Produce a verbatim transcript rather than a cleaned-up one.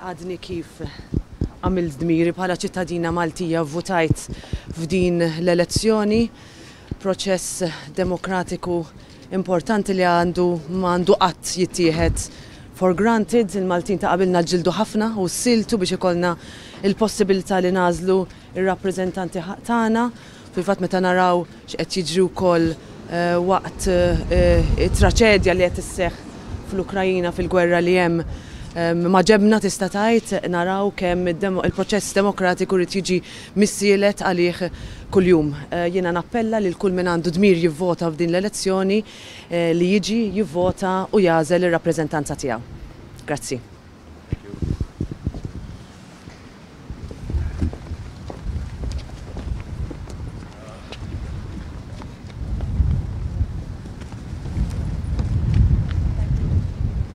Għadni kif għamilt dmiri bħala ċittadina Maltija, votajt f'din l-elezzjoni, proċess demokratiku importanti li għandu m'għandu qatt jittieħed for granted. Il-Maltin ta' qabilna ġġieldu ħafna u ssiltu biex ikollna il-possibilità li nagħżlu ir-rappreżentanti tagħna. Fil-fatt, meta naraw x'qed jiġri wkoll eh, waqt eh, it-traċedja li qed isseħħ fl-Ukrajina, fil-gwerra li hemm maġenbna, tista' tgħid, naraw kemm il-proċess demokratiku rid jiġi missielet għalih kuljum. Eh, jiena nappella lil kull min għandu dmir jivvota f'din l-elezzjoni eh, li jiġi jivvota u jagħżel ir-rappreżentanza tiegħu. Grazzi.